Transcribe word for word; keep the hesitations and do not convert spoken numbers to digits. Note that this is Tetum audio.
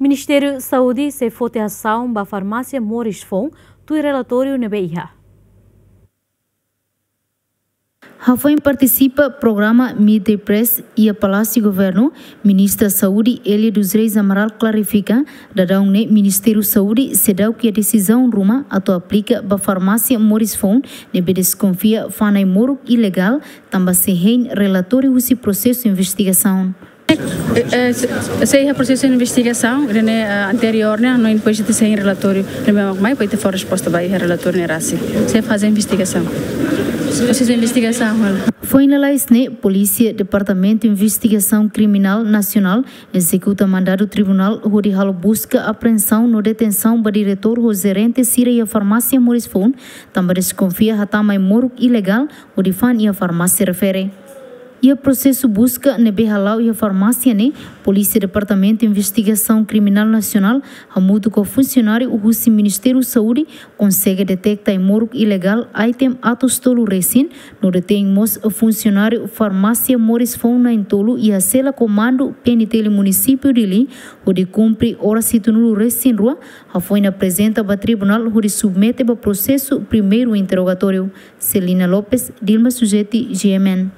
Ministériu Saúde sei foti asaun ba farmásia moris foun, tuir relatóriu ne'ebé iha. Hafoin partisipa programa Meet the Press iha Palásiu Governu, Ministra Saúde Elia dos Reis Amaral klarifika, daudaun ne'e Ministériu Saúde seidauk iha desizaun ruma atu aplika ba farmásia moris foun ne'ebé deskonfia fa'an ai-moruk ilegál, tanba sei hein relatóriu husi prosesu investigasaun. Eh, eh, se, sei iha prosesu investigasaun, ne'e, eh, anteriór ne'e, no depois de sei relatóriu, ne'e mak mai, depois de fó resposta ba iha relatóriu ne'e rasik. Sei faze investigasaun. Prosesu investigasaun, halo. Foin lalais ne'e, Polísia Departamentu Investigasaun Kriminál Nasionál ezekuta mandadu tribunál hodi halo buska apreensaun no detensaun ba diretór ho jerente sira iha farmásia moris foun, tanba deskonfia hatama ai-moruk ilegál hodi fa'an iha farmásia refere. Iha prosesu buska ne'ebé hala'o iha farmásia ne'e, Polísia Departamentu Investigasaun Kriminál Nasionál hamutuk ho funsionáriu husi Ministériu Saúde konsege deteta ai-moruk ilegál item atus tolu resin, no detein mós funsionáriu farmásia moris foun na'in-tolu iha sela komandu P N T L Munisípiu Dili, hodi kumpre oras hitunulu resin rua, hafoin aprezenta ba tribunál hodi submete ba prosesu primeiru interrogatóriu. Celina Lopes, Dilma Sujeti, G M N.